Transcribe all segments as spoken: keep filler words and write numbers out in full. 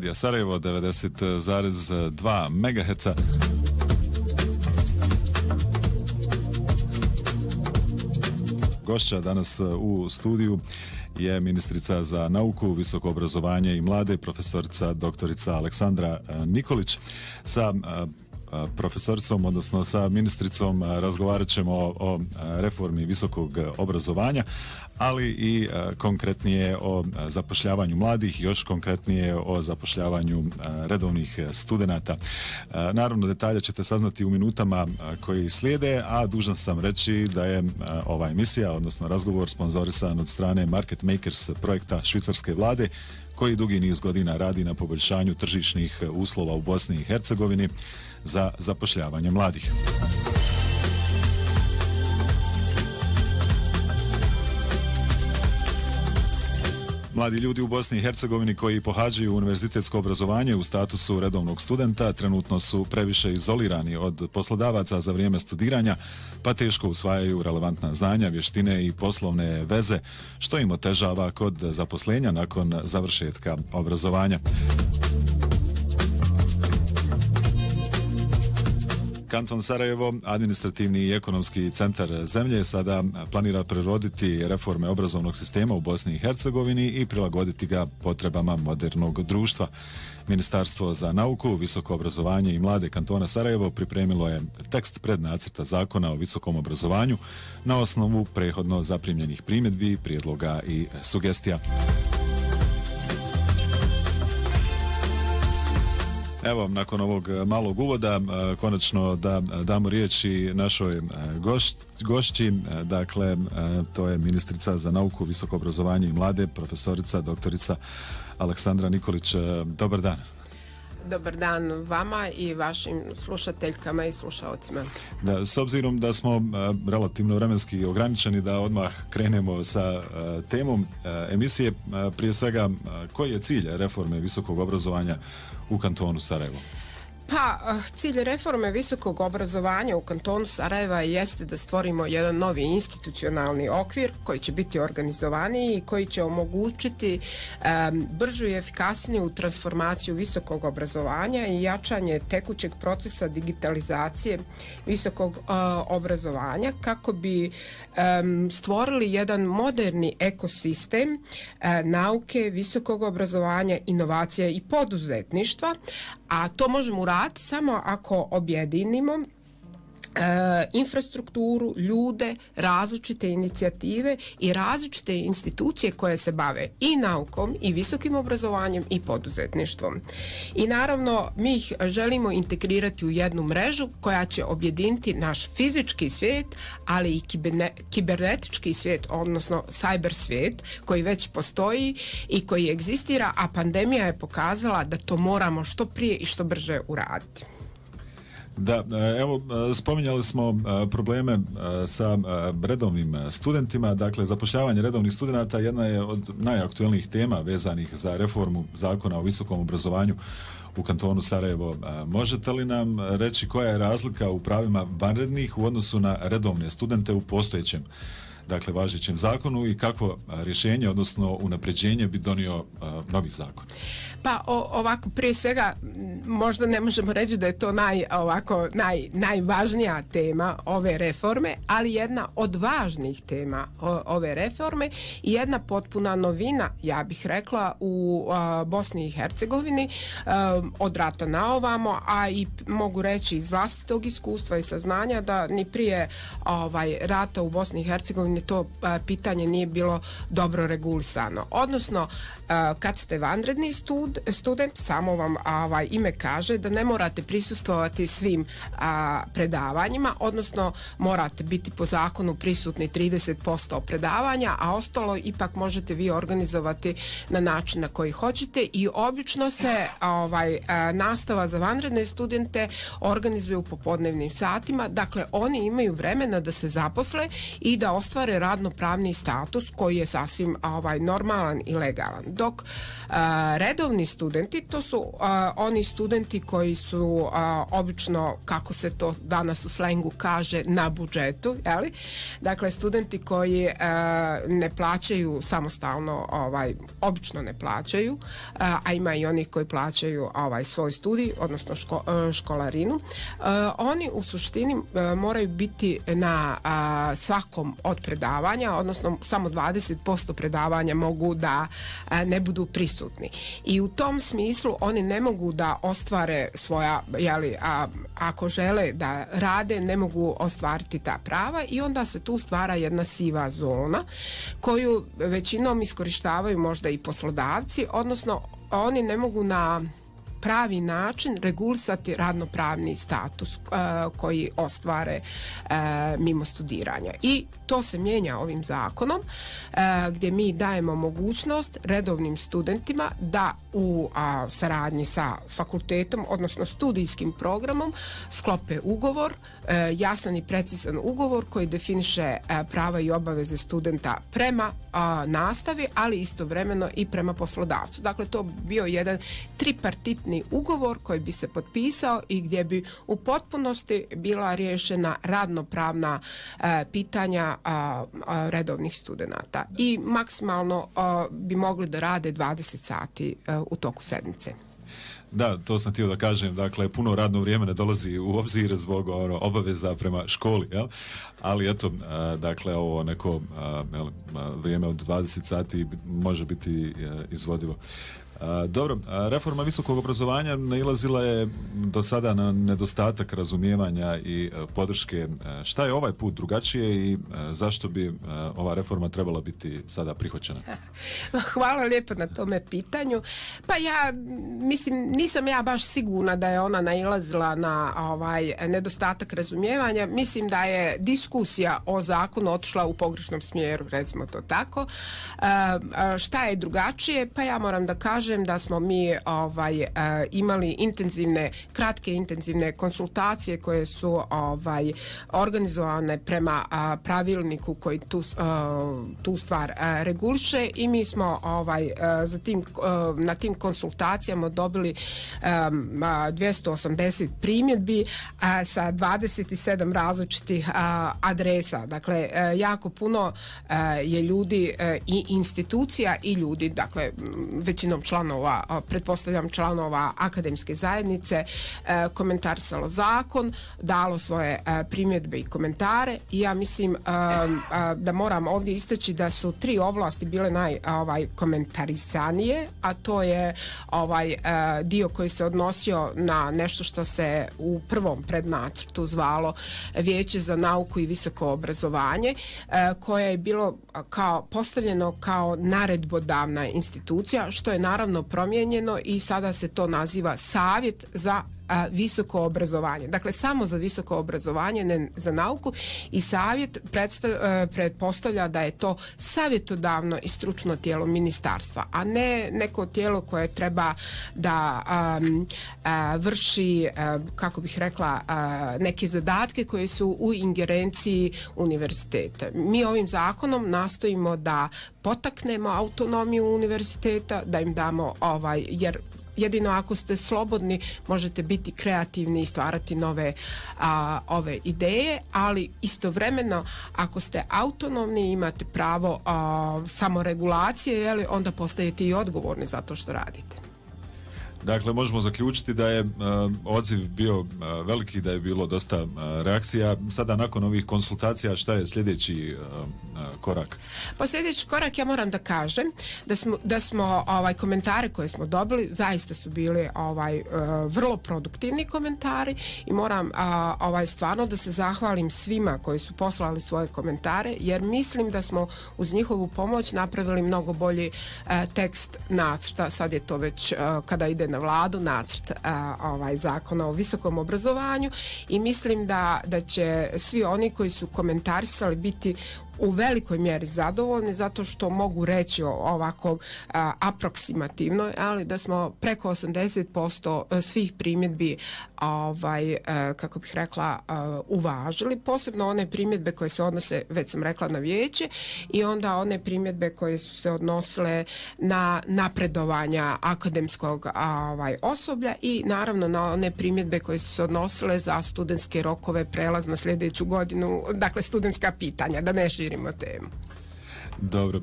Radija Sarajevo devedeset zarez dva megaherca. Gošća danas u studiju je ministrica za nauku, visoko obrazovanje i mlade, profesorica doktorica Aleksandra Nikolić. Sa profesoricom, odnosno sa ministricom, razgovarat ćemo o, o reformi visokog obrazovanja, ali i konkretnije o zapošljavanju mladih, još konkretnije o zapošljavanju redovnih studenata. Naravno, detalje ćete saznati u minutama koji slijede, a dužan sam reći da je ova emisija, odnosno razgovor, sponzorisan od strane Market Makers projekta švicarske vlade, koji dugi niz godina radi na poboljšanju tržišnih uslova u Bosni i Hercegovini za zapošljavanje mladih. Mladi ljudi u Bosni i Hercegovini koji pohađaju univerzitetsko obrazovanje u statusu redovnog studenta trenutno su previše izolirani od poslodavaca za vrijeme studiranja, pa teško usvajaju relevantna znanja, vještine i poslovne veze, što im otežava kod zaposlenja nakon završetka obrazovanja. Kanton Sarajevo, administrativni i ekonomski centar zemlje, sada planira preroditi reforme obrazovnog sistema u Bosni i Hercegovini i prilagoditi ga potrebama modernog društva. Ministarstvo za nauku, visoko obrazovanje i mlade Kantona Sarajevo pripremilo je tekst prednacrta zakona o visokom obrazovanju na osnovu prethodno zaprimljenih primjedbi, prijedloga i sugestija. Evo, nakon ovog malog uvoda, konačno da damo riječ i našoj gošć, gošći, dakle, to je ministrica za nauku, visoko obrazovanje i mlade, profesorica doktorica Aleksandra Nikolić. Dobar dan. Dobar dan vama i vašim slušateljkama i slušalcima. Da, s obzirom da smo uh, relativno vremenski ograničeni, da odmah krenemo sa uh, temom uh, emisije, uh, prije svega, uh, koji je cilj reforme visokog obrazovanja u kantonu Sarajevo? Pa, cilj reforme visokog obrazovanja u kantonu Sarajeva jeste da stvorimo jedan novi institucionalni okvir koji će biti organizovaniji i koji će omogućiti um, bržu i efikasniju transformaciju visokog obrazovanja i jačanje tekućeg procesa digitalizacije visokog uh, obrazovanja kako bi um, stvorili jedan moderni ekosistem uh, nauke, visokog obrazovanja, inovacija i poduzetništva, a to možemo uraditi samo ako objedinimo e, infrastrukturu, ljude, različite inicijative i različite institucije koje se bave i naukom i visokim obrazovanjem i poduzetništvom. I naravno mi ih želimo integrirati u jednu mrežu koja će objediniti naš fizički svijet, ali i kiberne, kibernetički svijet, odnosno cyber svijet koji već postoji i koji egzistira, a pandemija je pokazala da to moramo što prije i što brže uraditi. Da, evo, spominjali smo probleme sa redovnim studentima, dakle zapošljavanje redovnih studenata jedna je od najaktuelnijih tema vezanih za reformu zakona o visokom obrazovanju u kantonu Sarajevo. Možete li nam reći koja je razlika u pravima vanrednih u odnosu na redovne studente u postojećem, dakle važećem zakonu, i kakvo rješenje, odnosno unapređenje bi donio uh, novi zakon? Pa o, ovako, prije svega možda ne možemo reći da je to naj, ovako, naj, najvažnija tema ove reforme, ali jedna od važnih tema o, ove reforme i jedna potpuna novina, ja bih rekla, u uh, Bosni i Hercegovini uh, od rata na ovamo, a i mogu reći iz vlastitog iskustva i saznanja da ni prije ovaj, rata u Bosni i Hercegovini to uh, pitanje nije bilo dobro regulisano. Odnosno, uh, kad ste vanredni stud, student, samo vam ovaj, ime kaže da ne morate prisustvovati svim uh, predavanjima, odnosno morate biti po zakonu prisutni trideset posto predavanja, a ostalo ipak možete vi organizovati na način na koji hoćete i obično se ovaj, uh, nastava za vanredne studente organizuje u popodnevnim satima, dakle oni imaju vremena da se zaposle i da ostvare ostvare radnopravni status koji je sasvim ovaj, normalan i legalan. Dok a, redovni studenti, to su a, oni studenti koji su a, obično, kako se to danas u slengu kaže, na budžetu, jeli? Dakle, studenti koji a, ne plaćaju samostalno, ovaj, obično ne plaćaju, a, a ima i oni koji plaćaju ovaj, svoj studij, odnosno ško, školarinu. A, oni u suštini a, moraju biti na a, svakom od predavanja, odnosno samo dvadeset posto predavanja mogu da a, ne budu prisutni. I u tom smislu oni ne mogu da ostvare svoja, jeli, a, ako žele da rade, ne mogu ostvariti ta prava i onda se tu stvara jedna siva zona koju većinom iskorištavaju možda i poslodavci, odnosno oni ne mogu na pravi način regulisati radnopravni status uh, koji ostvare uh, mimo studiranja. I to se mijenja ovim zakonom uh, gdje mi dajemo mogućnost redovnim studentima da u uh, saradnji sa fakultetom, odnosno studijskim programom, sklope ugovor, uh, jasan i precizan ugovor koji definiše uh, prava i obaveze studenta prema uh, nastavi, ali istovremeno i prema poslodavcu. Dakle, to bi bio jedan tripartitni ugovor koji bi se potpisao i gdje bi u potpunosti bila riješena radnopravna e, pitanja a, a, redovnih studenata i maksimalno a, bi mogli da rade dvadeset sati a, u toku sedmice. Da, to sam htio da kažem, dakle, puno radno vrijeme ne dolazi u obzir zbog ono, obaveza prema školi, jel? Ali eto, a, dakle, ovo neko a, jel, a, vrijeme od dvadeset sati može biti a, izvodivo. A, dobro, a, reforma visokog obrazovanja nailazila je do sada na nedostatak razumijevanja i a, podrške. A, šta je ovaj put drugačije i a, zašto bi a, ova reforma trebala biti sada prihvaćena? Hvala lijepo na tome pitanju. Pa ja mislim, nisam ja baš sigurna da je ona nailazila na ovaj nedostatak razumijevanja. Mislim da je diskusija o zakonu otišla u pogrešnom smjeru, recimo to tako. A, a, šta je drugačije? Pa ja moram da kažem da smo mi ovaj, imali intenzivne, kratke intenzivne konsultacije koje su ovaj, organizovane prema pravilniku koji tu, tu stvar reguliše i mi smo ovaj, za tim, na tim konsultacijama dobili dvjesto osamdeset primjedbi sa dvadeset sedam različitih adresa. Dakle, jako puno je ljudi i institucija i ljudi, dakle, većinom članova, pretpostavljam članova akademske zajednice, e, komentarisalo zakon, dalo svoje e, primjedbe i komentare i ja mislim e, e, da moram ovdje istaći da su tri oblasti bile naj ovaj, komentarisanije, a to je ovaj e, dio koji se odnosio na nešto što se u prvom prednacrtu zvalo Vijeće za nauku i visoko obrazovanje, e, koje je bilo kao postavljeno kao naredbodavna institucija, što je naravno promijenjeno i sada se to naziva Savjet za a, visoko obrazovanje. Dakle, samo za visoko obrazovanje, ne za nauku, i savjet pretpostavlja da je to savjetodavno i stručno tijelo ministarstva, a ne neko tijelo koje treba da a, a, vrši, a, kako bih rekla, a, neke zadatke koje su u ingerenciji univerziteta. Mi ovim zakonom nastojimo da potaknemo autonomiju univerziteta, da im damo ovaj, jer jedino ako ste slobodni možete biti kreativni i stvarati nove a, ove ideje, ali istovremeno ako ste autonomni imate pravo a, samoregulacije, jeli, onda postajete i odgovorni za to što radite. Dakle, možemo zaključiti da je uh, odziv bio uh, veliki, da je bilo dosta uh, reakcija. Sada nakon ovih konsultacija šta je sljedeći uh, uh, korak? Pa sljedeći korak, ja moram da kažem da smo, da smo ovaj, komentare koje smo dobili zaista su bili ovaj, uh, vrlo produktivni komentari i moram uh, ovaj, stvarno da se zahvalim svima koji su poslali svoje komentare, jer mislim da smo uz njihovu pomoć napravili mnogo bolji uh, tekst nacrta. Sad je to već uh, kada ide na vladu nacrt a, ovaj, zakona o visokom obrazovanju i mislim da, da će svi oni koji su komentarisali biti u velikoj mjeri zadovoljni zato što mogu reći ovako a, aproksimativno, ali da smo preko osamdeset posto svih primjedbi ovaj, a, kako bih rekla a, uvažili, posebno one primjedbe koje se odnose, već sam rekla, na vijeće i onda one primjedbe koje su se odnosile na napredovanja akademskog a, ovaj, osoblja i naravno na one primjedbe koje su se odnosile za studentske rokove, prelaz na sljedeću godinu, dakle studentska pitanja, da ne širimo temu. Dobro.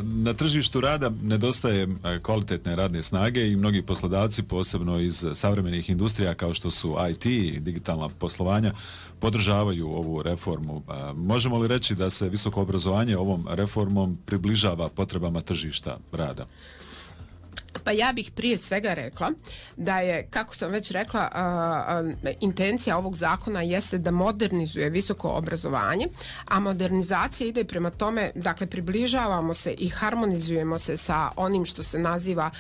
Na tržištu rada nedostaje kvalitetne radne snage i mnogi poslodavci, posebno iz savremenih industrija kao što su I T i digitalna poslovanja, podržavaju ovu reformu. Možemo li reći da se visoko obrazovanje ovom reformom približava potrebama tržišta rada? Pa ja bih prije svega rekla da je, kako sam već rekla, a, a, intencija ovog zakona jeste da modernizuje visoko obrazovanje, a modernizacija ide prema tome, dakle približavamo se i harmonizujemo se sa onim što se naziva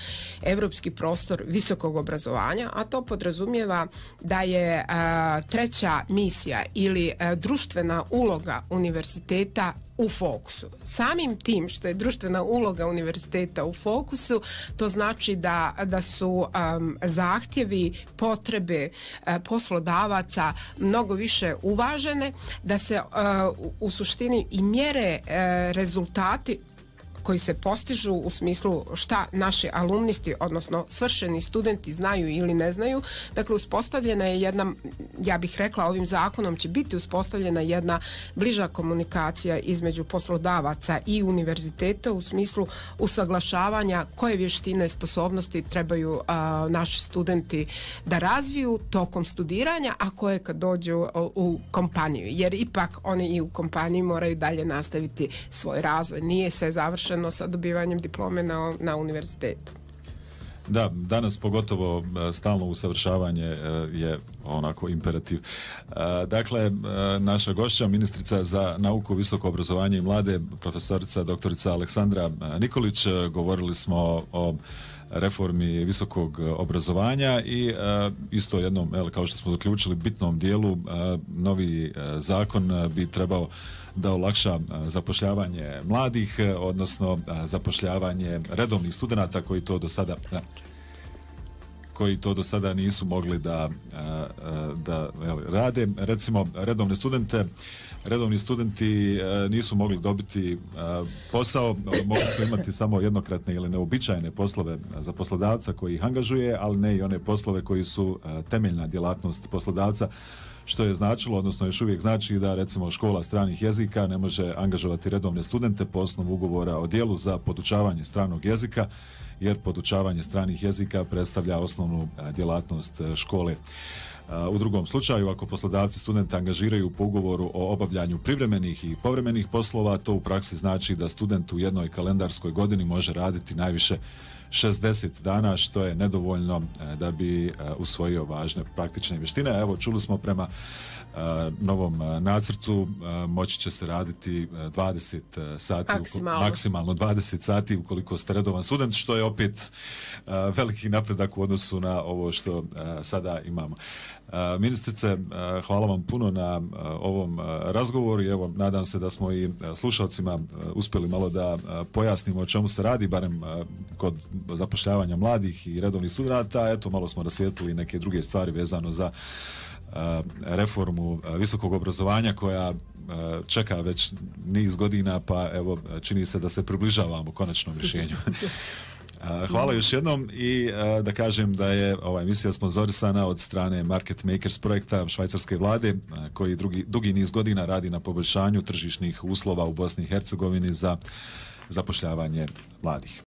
europski prostor visokog obrazovanja, a to podrazumijeva da je a, treća misija ili a, društvena uloga univerziteta u fokusu. Samim tim što je društvena uloga univerziteta u fokusu, to znači da, da su um, zahtjevi, potrebe uh, poslodavaca mnogo više uvažene, da se uh, u, u suštini i mjere uh, rezultati koji se postižu u smislu šta naši alumnisti, odnosno svršeni studenti znaju ili ne znaju. Dakle, uspostavljena je jedna, ja bih rekla, ovim zakonom će biti uspostavljena jedna bliža komunikacija između poslodavaca i univerziteta u smislu usaglašavanja koje vještine, sposobnosti trebaju a, naši studenti da razviju tokom studiranja, a koje kad dođu u, u kompaniju. Jer ipak oni i u kompaniji moraju dalje nastaviti svoj razvoj. Nije se završeno sa dobivanjem diplome na, na univerzitetu. Da, danas pogotovo stalno usavršavanje je onako imperativ. Dakle, naša gošća, ministrica za nauku, visoko obrazovanje i mlade, profesorica doktorica Aleksandra Nikolić, govorili smo o reformi visokog obrazovanja i uh, isto jednom, el, kao što smo zaključili, bitnom dijelu, uh, novi uh, zakon uh, bi trebao da olakša uh, zapošljavanje mladih, uh, odnosno uh, zapošljavanje redovnih studenata koji to do sada uh, koji to do sada nisu mogli da, uh, da el, rade. Recimo, redovne studente redovni studenti e, nisu mogli dobiti e, posao, mogli su imati samo jednokratne ili neobičajene poslove za poslodavca koji ih angažuje, ali ne i one poslove koji su e, temeljna djelatnost poslodavca, što je značilo, odnosno još uvijek znači da recimo škola stranih jezika ne može angažovati redovne studente po osnovu ugovora o djelu za podučavanje stranog jezika, jer podučavanje stranih jezika predstavlja osnovnu e, djelatnost e, škole. U drugom slučaju, ako poslodavci studenta angažiraju po ugovoru o obavljanju privremenih i povremenih poslova, to u praksi znači da student u jednoj kalendarskoj godini može raditi najviše šezdeset dana, što je nedovoljno da bi usvojio važne praktične vještine. Evo, čuli smo prema novom nacrtu moći će se raditi dvadeset sati, maksimalno. maksimalno dvadeset sati ukoliko ste redovan student, što je opet veliki napredak u odnosu na ovo što sada imamo. Ministrice, hvala vam puno na ovom razgovoru i evo, nadam se da smo i slušalcima uspjeli malo da pojasnimo o čemu se radi, barem kod zapošljavanja mladih i redovnih studenata. Eto, malo smo rasvijetlili neke druge stvari vezano za reformu visokog obrazovanja koja čeka već niz godina, pa evo, čini se da se približavamo konačnom rješenju. Hvala još jednom i da kažem da je ova emisija sponzorisana od strane Market Makers projekta švajcarske vlade koji drugi, dugi niz godina radi na poboljšanju tržišnih uslova u Bosni i Hercegovini za zapošljavanje mladih.